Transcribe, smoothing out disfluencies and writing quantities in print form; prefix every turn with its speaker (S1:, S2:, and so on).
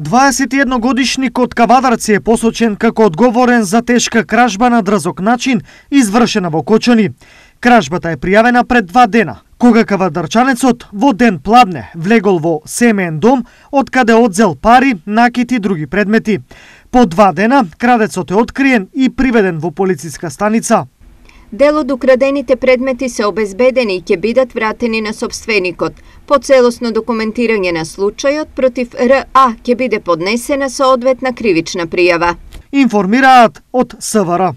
S1: 21-годишник од Кавадарци е посочен како одговорен за тешка кражба на дрзок начин, извршена во Кочани. Кражбата е пријавена пред 2 дена, кога кавадарчанецот во ден пладне влегол во семеен дом, од каде одзел пари, накит и други предмети. По 2 дена крадецот е откриен и приведен во полициска станица.
S2: Дел од украдените предмети се обезбедени и ќе бидат вратени на собственикот. По целосно документирање на случајот против РА ќе биде поднесена соодветна кривична пријава.
S1: Информираат од СВР.